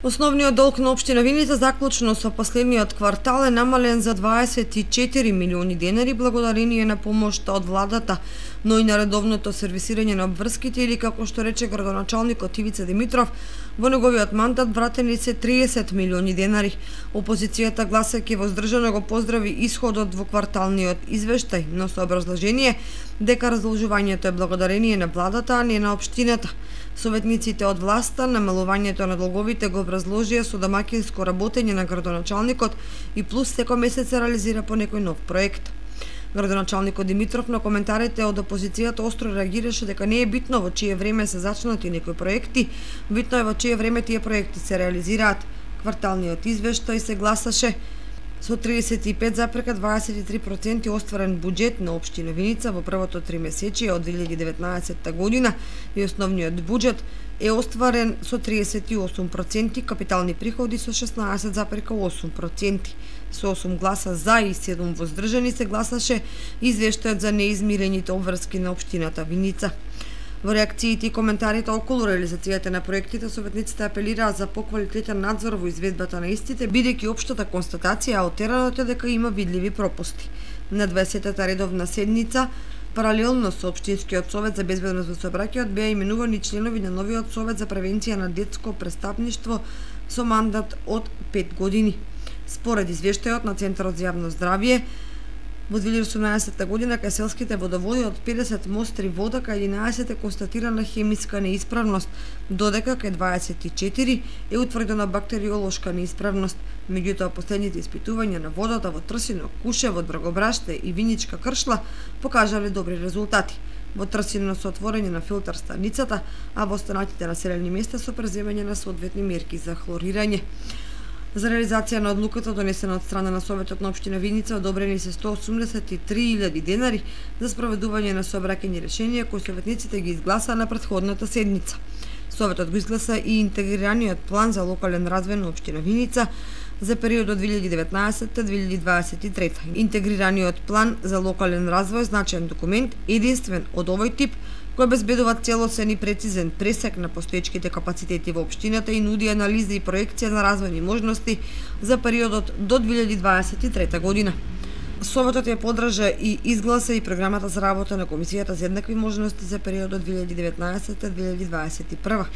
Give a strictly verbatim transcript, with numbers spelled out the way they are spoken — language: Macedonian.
Основниот долг на општина Виница заклучно со последниот квартал е намален за дваесет и четири милиони денари благодарение на помошта од владата, но и на редовното сервисирање на обврските или, како што рече градоначалникот Ивица Димитров, во неговиот мандат вратени се триесет милиони денари. Опозицијата гласајќи воздржано го поздрави исходот во кварталниот извештај, но со образложение дека разложувањето е благодарение на владата, а не на општината. Советниците од власта намалувањето на долговите го образложија со домаќинско работење на градоначалникот и плюс секој месец се реализира по некој нов проект. Градоначалникот Димитров на коментарите од опозицијата остро реагираше дека не е битно во чие време се зачнати некои проекти, битно е во чие време тие проекти се реализираат. Кварталниот извештај се гласаше со триесет и пет запирка дваесет и три проценти остварен буџет на општина Виница во првото тримесечие од две илјади и деветнаесетта година и основниот буџет е остварен со триесет и осум проценти, капитални приходи со шеснаесет запирка осум проценти. Со осум гласа за и седум воздржани се гласаше извештајот за неизмирените обврски на општината Виница. Во реакциите и коментарите околу реализацијата на проектите, советниците апелираа за поквалитетен надзор во изведбата на истите, бидејќи општата констатација од теренот е дека има видливи пропусти. На дваесеттата редовна седница, паралелно со Општинскиот совет за безбедност во сообраќајот, беа именувани членови на новиот совет за превенција на детско престапништво со мандат од пет години. Според извештајот на Центарот за јавно здравје, во две илјади и осумнаесетта година кај селските водоводи од педесет мостри вода кај единаесет е констатирана хемиска неисправност, додека кај дваесет и четири е утврдена бактериолошка неисправност. Меѓутоа, последните испитувања на водата во Трсино, Кушево, Драгобраште и Виничка Кршла покажале добри резултати. Во Трсино со отворање на филтер станицата, а во останатите населени места со преземање на соодветни мерки за хлорирање. За реализација на одлуката донесена од страна на Советот на општина Виница одобрени се сто осумдесет и три илјади денари за спроведување на сообраќајни решенија кои советниците ги изгласаа на претходната седница. Советот го изгласа и интегрираниот план за локален развој на општина Виница за периодот две илјади и деветнаесетта - две илјади и дваесет и трета. Интегрираниот план за локален развој значаен документ, единствен од овој тип, кој обезбедува целосен и прецизен пресек на постоечките капацитети во општината и нуди анализа и проекција на развојни можности за периодот до две илјади и дваесет и трета година. Советот ја поддржа и изгласа и програмата за работа на Комисијата за еднакви можности за периодот две илјади и деветнаесетта - две илјади и дваесет и прва.